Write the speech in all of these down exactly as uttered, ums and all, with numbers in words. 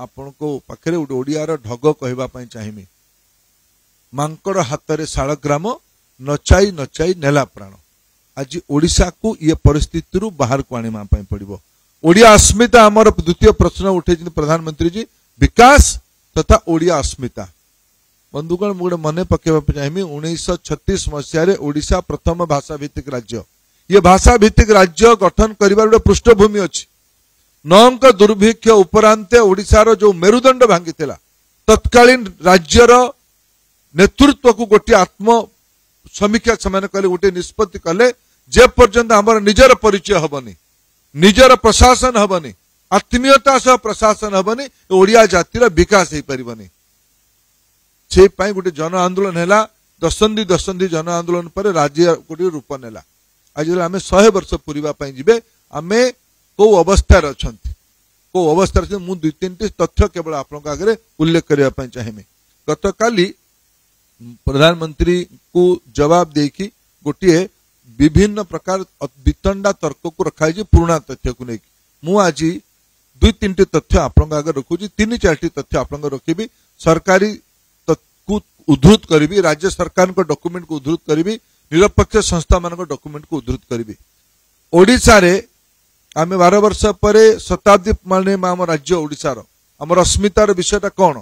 ଆପଣଙ୍କ ପାଖରେ ଗୋଟେ ଓଡ଼ିଆର ଢଗ କହିବା ପାଇଁ ଚାହିଁବି। ମାଙ୍କଡ଼ ହାତରେ ଶାଳଗ୍ରାମ, ନଚାଇ ନଚାଇ ନେଲା ପ୍ରାଣ। ଆଜି ଓଡ଼ିଶାକୁ ଇଏ ପରିସ୍ଥିତିରୁ ବାହାରକୁ ଆଣିବା ପାଇଁ ପଡ଼ିବ। ଓଡ଼ିଆ ଅସ୍ମିତା ଆମର ଦ୍ୱିତୀୟ ପ୍ରଶ୍ନ ଉଠେଇଛନ୍ତି ପ୍ରଧାନମନ୍ତ୍ରୀଜୀ, ବିକାଶ ତଥା ଓଡ଼ିଆ ଅସ୍ମିତା। ବନ୍ଧୁଗଣ, ମୁଁ ଗୋଟେ ମନେ ପକେଇବା ପାଇଁ ଚାହିଁବି, ଉଣେଇଶହ ଛତିଶ ମସିହାରେ ଓଡ଼ିଶା ପ୍ରଥମ ଭାଷା ଭିତ୍ତିକ ରାଜ୍ୟ। ଇଏ ଭାଷା ଭିତ୍ତିକ ରାଜ୍ୟ ଗଠନ କରିବାର ଗୋଟେ ପୃଷ୍ଠଭୂମି ଅଛି। ନଅଙ୍କ ଦୁର୍ଭିକ୍ଷ ଉପରାନ୍ତେ ଓଡ଼ିଶାର ଯୋଉ ମେରୁଦଣ୍ଡ ଭାଙ୍ଗିଥିଲା, ତତ୍କାଳୀନ ରାଜ୍ୟର ନେତୃତ୍ୱକୁ ଗୋଟିଏ ଆତ୍ମ ସମୀକ୍ଷା ସେମାନେ କଲେ, ଗୋଟିଏ ନିଷ୍ପତ୍ତି କଲେ, ଯେ ପର୍ଯ୍ୟନ୍ତ ଆମର ନିଜର ପରିଚୟ ହବନି, ନିଜର ପ୍ରଶାସନ ହବନି, ଆତ୍ମୀୟତା ସହ ପ୍ରଶାସନ ହବନି, ଓଡ଼ିଆ ଜାତିର ବିକାଶ ହେଇପାରିବନି। ସେଇ ପାଇଁ ଗୋଟେ ଜନ ଆନ୍ଦୋଳନ ହେଲା। ଦଶନ୍ଧି ଦଶନ୍ଧି ଜନ ଆନ୍ଦୋଳନ ପରେ ରାଜ୍ୟ ଗୋଟିଏ ରୂପ ନେଲା। ଆଜି ଯେତେବେଳେ ଆମେ ଶହେ ବର୍ଷ ପୂରିବା ପାଇଁ ଯିବେ, ଆମେ କୋଉ ଅବସ୍ଥାରେ ଅଛନ୍ତି, କୋଉ ଅବସ୍ଥାରେ ଅଛନ୍ତି, ମୁଁ ଦୁଇ ତିନିଟି ତଥ୍ୟ କେବଳ ଆପଣଙ୍କ ଆଗରେ ଉଲ୍ଲେଖ କରିବା ପାଇଁ ଚାହିଁବି। ଗତକାଲି ପ୍ରଧାନମନ୍ତ୍ରୀଙ୍କୁ ଜବାବ ଦେଇକି ଗୋଟିଏ ବିଭିନ୍ନ ପ୍ରକାର ବିତଣ୍ଡା ତର୍କକୁ ରଖାଯାଇଛି ପୁରୁଣା ତଥ୍ୟକୁ ନେଇକି। ମୁଁ ଆଜି ଦୁଇ ତିନିଟି ତଥ୍ୟ ଆପଣଙ୍କ ଆଗରେ ରଖୁଛି, ତିନି ଚାରିଟି ତଥ୍ୟ ଆପଣଙ୍କ ରଖିବି, ସରକାରୀ କୁ ଉଦ୍ଧୃତ କରିବି, ରାଜ୍ୟ ସରକାରଙ୍କ ଡକୁମେଣ୍ଟକୁ ଉଦ୍ଧୃତ କରିବି, ନିରପେକ୍ଷ ସଂସ୍ଥାମାନଙ୍କ ଡକୁମେଣ୍ଟକୁ ଉଦ୍ଧୃତ କରିବି। ଓଡ଼ିଶାରେ ଆମେ ବାର ବର୍ଷ ପରେ ଶତାବ୍ଦୀ ମାନେ ଆମ ରାଜ୍ୟ ଓଡ଼ିଶାର ଆମର ଅସ୍ମିତାର ବିଷୟଟା କ'ଣ,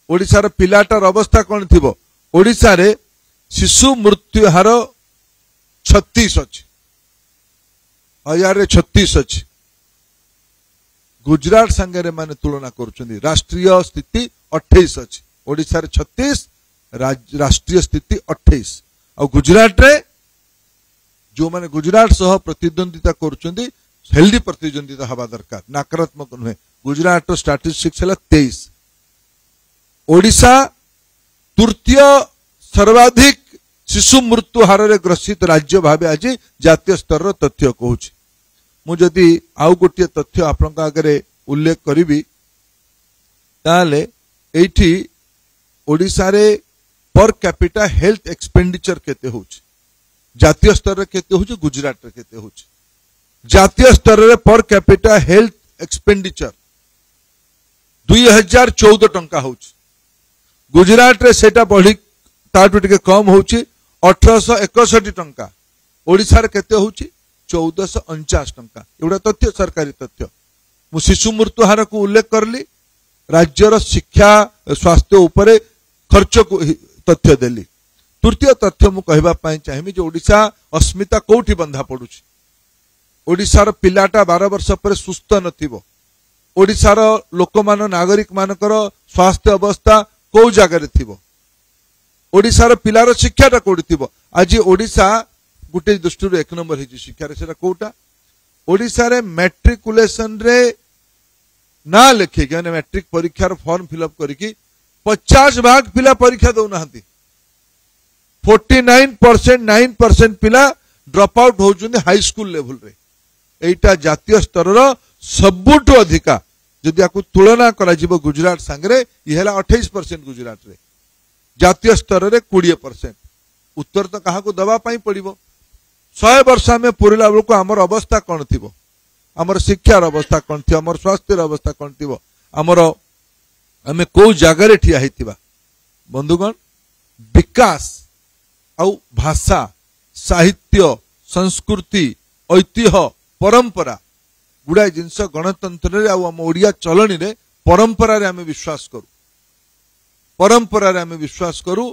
ଓଡ଼ିଶାର ପିଲାଟାର ଅବସ୍ଥା କ'ଣ ଥିବ। ଓଡ଼ିଶାରେ ଶିଶୁ ମୃତ୍ୟୁ ହାର ଛତିଶ ଅଛି, ହଜାରରେ ଛତିଶ ଅଛି। ଗୁଜରାଟ ସାଙ୍ଗରେ ମାନେ ତୁଳନା କରୁଛନ୍ତି, ରାଷ୍ଟ୍ରୀୟ ସ୍ଥିତି ଅଠେଇଶ ଅଛି, ଓଡ଼ିଶାରେ ଛତିଶ, ରାଷ୍ଟ୍ରୀୟ ସ୍ଥିତି ଅଠେଇଶ। ଆଉ ଗୁଜରାଟରେ ଯେଉଁମାନେ ଗୁଜରାଟ ସହ ପ୍ରତିଦ୍ୱନ୍ଦିତା କରୁଛନ୍ତି, ହେଲ୍ଦି ପ୍ରତିଦ୍ୱନ୍ଦିତା ହେବା ଦରକାର, ନକାରାତ୍ମକ ନୁହେଁ। ଗୁଜରାଟର ଷ୍ଟାଟିଷ୍ଟିକ୍ସ ହେଲା ତେଇଶ। ଓଡ଼ିଶା ତୃତୀୟ ସର୍ବାଧିକ ଶିଶୁ ମୃତ୍ୟୁ ହାରରେ ଗ୍ରସିତ ରାଜ୍ୟ ଭାବେ ଆଜି ଜାତୀୟ ସ୍ତରର ତଥ୍ୟ କହୁଛି। ମୁଁ ଯଦି ଆଉ ଗୋଟିଏ ତଥ୍ୟ ଆପଣଙ୍କ ଆଗରେ ଉଲ୍ଲେଖ କରିବି, ତାହେଲେ ଏଇଠି ଓଡ଼ିଶାରେ ପର କ୍ୟାପିଟା ହେଲ୍ଥ ଏକ୍ସପେଣ୍ଡିଚର କେତେ ହେଉଛି, ଜାତୀୟ ସ୍ତରରେ କେତେ ହେଉଛି, ଗୁଜରାଟରେ କେତେ ହେଉଛି। ଜାତୀୟ ସ୍ତରରେ ପର କ୍ୟାପିଟା ହେଲ୍ଥ ଏକ୍ସପେଣ୍ଡିଚର ଦୁଇ ହଜାର ଚଉଦ ଟଙ୍କା ହେଉଛି, ଗୁଜରାଟରେ ସେଇଟା ବଢି ତାଠୁ ଟିକେ କମ ହେଉଛି, ଅଠରଶହ ଏକଷଠି ଟଙ୍କା। ଓଡ଼ିଶାରେ କେତେ ହେଉଛି, ଚଉଦଶହ ଅଣଚାଶ ଟଙ୍କା। ଏଗୁଡ଼ା ତଥ୍ୟ, ସରକାରୀ ତଥ୍ୟ। ମୁଁ ଶିଶୁ ମୃତ୍ୟୁ ହାରକୁ ଉଲ୍ଲେଖ କଲି, ରାଜ୍ୟର ଶିକ୍ଷା ସ୍ୱାସ୍ଥ୍ୟ ଉପରେ ଖର୍ଚ୍ଚକୁ ତଥ୍ୟ ଦେଲି। ତୃତୀୟ ତଥ୍ୟ ମୁଁ କହିବା ପାଇଁ ଚାହିଁବି ଯେ ଓଡ଼ିଶା ଅସ୍ମିତା କୋଉଠି ବନ୍ଧା ପଡୁଛି। ଓଡ଼ିଶାର ପିଲାଟା ବାର ବର୍ଷ ପରେ ସୁସ୍ଥ ନଥିବ, ଓଡ଼ିଶାର ଲୋକମାନ ନାଗରିକ ମାନଙ୍କର ସ୍ୱାସ୍ଥ୍ୟ ଅବସ୍ଥା କୋଉ ଜାଗାରେ ଥିବ, ଓଡ଼ିଶାର ପିଲାର ଶିକ୍ଷାଟା କୋଉଠି ଥିବ। ଆଜି ଓଡ଼ିଶା ଗୋଟେ ଦୃଷ୍ଟିରୁ ଏକ ନମ୍ବର ହେଇଛି ଶିକ୍ଷାରେ, ସେଟା କୋଉଟା? ଓଡ଼ିଶାରେ ମେଟ୍ରିକୁଲେସନରେ ନାଁ ଲେଖିକି, ମାନେ ମେଟ୍ରିକ ପରୀକ୍ଷାର ଫର୍ମ ଫିଲ୍ଅପ୍ କରିକି ପଚାଶ ଭାଗ ପିଲା ପରୀକ୍ଷା ଦଉନାହାନ୍ତି। Forty nine percent nine percent ପିଲା ଡ୍ରପ୍ ଆଉଟ୍ ହଉଛନ୍ତି ହାଇସ୍କୁଲ ଲେଭେଲରେ। ଏଇଟା ଜାତୀୟ ସ୍ତରର ସବୁଠୁ ଅଧିକା। ଯଦି ୟାକୁ ତୁଳନା କରାଯିବ ଗୁଜରାଟ ସାଙ୍ଗରେ, ଇଏ ହେଲା ଅଠେଇଶ ପରସେଣ୍ଟ ଗୁଜରାଟରେ, ଜାତୀୟ ସ୍ତରରେ କୋଡ଼ିଏ ପରସେଣ୍ଟ। ଉତ୍ତର ତ କାହାକୁ ଦେବା ପାଇଁ ପଡ଼ିବ। ଶହେ ବର୍ଷ ଆମେ ପୁରିଲା ବେଳକୁ ଆମର ଅବସ୍ଥା କ'ଣ ଥିବ, ଆମର ଶିକ୍ଷାର ଅବସ୍ଥା କ'ଣ ଥିବ, ଆମର ସ୍ୱାସ୍ଥ୍ୟର ଅବସ୍ଥା କ'ଣ ଥିବ, ଆମର ଆମେ କୋଉ ଜାଗାରେ ଠିଆ ହେଇଥିବା। ବନ୍ଧୁଗଣ, ବିକାଶ ଆଉ ଭାଷା, ସାହିତ୍ୟ, ସଂସ୍କୃତି, ଐତିହ୍ୟ, ପରମ୍ପରା ଗୁଡ଼ାଏ ଜିନିଷ ଗଣତନ୍ତ୍ରରେ ଆଉ ଆମ ଓଡ଼ିଆ ଚଳଣିରେ ପରମ୍ପରାରେ ଆମେ ବିଶ୍ୱାସ କରୁ, ପରମ୍ପରାରେ ଆମେ ବିଶ୍ୱାସ କରୁ।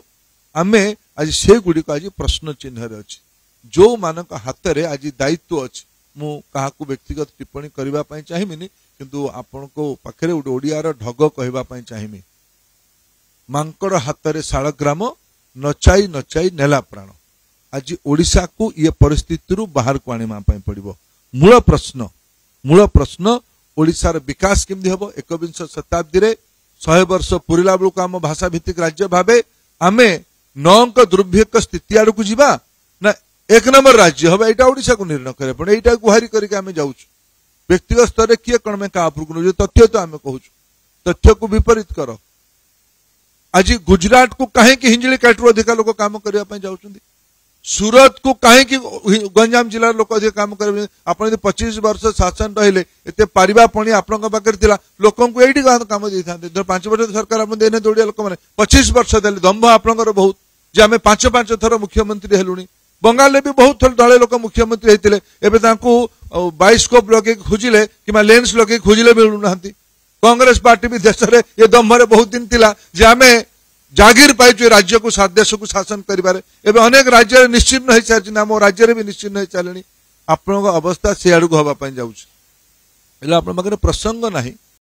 ଆମେ ଆଜି ସେଗୁଡ଼ିକ ଆଜି ପ୍ରଶ୍ନ ଚିହ୍ନରେ ଅଛି। ଯେଉଁମାନଙ୍କ ହାତରେ ଆଜି ଦାୟିତ୍ୱ ଅଛି, ମୁଁ କାହାକୁ ବ୍ୟକ୍ତିଗତ ଟିପ୍ପଣୀ କରିବା ପାଇଁ ଚାହିଁବିନି, କିନ୍ତୁ ଆପଣଙ୍କ ପାଖରେ ଗୋଟେ ଓଡ଼ିଆର ଢଗ କହିବା ପାଇଁ ଚାହିଁବି। ମାଙ୍କଡ଼ ହାତରେ ଶାଳଗ୍ରାମ, ନଚାଇ ନଚାଇ ନେଲା ପ୍ରାଣ। ଆଜି ଓଡ଼ିଶାକୁ ଇଏ ପରିସ୍ଥିତିରୁ ବାହାରକୁ ଆଣିବା ପାଇଁ ପଡ଼ିବ। ମୂଳ ପ୍ରଶ୍ନ, ମୂଳ ପ୍ରଶ୍ନ ଓଡ଼ିଶାର ବିକାଶ କେମିତି ହେବ। ଏକବିଂଶ ଶତାବ୍ଦୀରେ ଶହେ ବର୍ଷ ପୁରିଲା ବେଳକୁ ଆମ ଭାଷା ଭିତ୍ତିକ ରାଜ୍ୟ ଭାବେ ଆମେ ନଅଙ୍କ ଦୁର୍ଭିକ୍ଷ ସ୍ଥିତି ଆଡ଼କୁ ଯିବା ନା ଏକ ନମ୍ବର ରାଜ୍ୟ ହବ, ଏଇଟା ଓଡ଼ିଶାକୁ ନିର୍ଣ୍ଣୟ କରିବାକୁ ପଡ଼ିବ। ଏଇଟା ଗୁହାରି କରିକି ଆମେ ଯାଉଛୁ। ବ୍ୟକ୍ତିଗତ ସ୍ତରରେ କିଏ କ'ଣ ପାଇଁ କାହା ଉପରକୁ ନେଉଛୁ, ତଥ୍ୟ ତ ଆମେ କହୁଛୁ, ତଥ୍ୟକୁ ବିପରୀତ କର। ଆଜି ଗୁଜରାଟକୁ କାହିଁକି ହିଞ୍ଜିଳି କାଟରୁ ଅଧିକା ଲୋକ କାମ କରିବା ପାଇଁ ଯାଉଛନ୍ତି? ସୁରତକୁ କାହିଁକି ଗଞ୍ଜାମ ଜିଲ୍ଲାର ଲୋକ ଅଧିକ କାମ କରିବେ? ଆପଣ ଯଦି ପଚିଶ ବର୍ଷ ଶାସନ ରହିଲେ, ଏତେ ପାରିବା ପଣି ଆପଣଙ୍କ ପାଖରେ ଥିଲା, ଲୋକଙ୍କୁ ଏଇଠି କାମ ଦେଇଥାନ୍ତେ। ଧର ପାଞ୍ଚ ବର୍ଷ ସରକାର ଆପଣ ଦେଇନାହାନ୍ତି ଓଡ଼ିଆ ଲୋକମାନେ, ପଚିଶ ବର୍ଷ ଦେଲେ। ଦମ୍ଭ ଆପଣଙ୍କର ବହୁତ ଯେ ଆମେ ପାଞ୍ଚ ପାଞ୍ଚ ଥର ମୁଖ୍ୟମନ୍ତ୍ରୀ ହେଲୁଣି। ବଙ୍ଗାଳରେ ବି ବହୁତ ଥର ଦଳେ ଲୋକ ମୁଖ୍ୟମନ୍ତ୍ରୀ ହେଇଥିଲେ, ଏବେ ତାଙ୍କୁ ବାଇସ୍କୋପ ଲଗେଇକି ଖୋଜିଲେ କିମ୍ବା ଲେନ୍ସ ଲଗେଇକି ଖୋଜିଲେ ମିଳୁନାହାନ୍ତି। କଂଗ୍ରେସ ପାର୍ଟି ବି ଦେଶରେ ଏ ଦମ୍ଭରେ ବହୁତ ଦିନ ଥିଲା ଯେ ଆମେ ଜାଗିର ପାଇଛୁ ଏ ରାଜ୍ୟକୁ, ଦେଶକୁ ଶାସନ କରିବାରେ। ଏବେ ଅନେକ ରାଜ୍ୟରେ ନିଶ୍ଚିହ୍ନ ହେଇସାରିଛନ୍ତି, ଆମ ରାଜ୍ୟରେ ବି ନିଶ୍ଚିହ୍ନ ହେଇସାରିଲେଣି। ଆପଣଙ୍କ ଅବସ୍ଥା ସେ ଆଡ଼କୁ ହେବା ପାଇଁ ଯାଉଛି। ହେଲେ ଆପଣଙ୍କ ପାଖରେ ପ୍ରସଙ୍ଗ ନାହିଁ।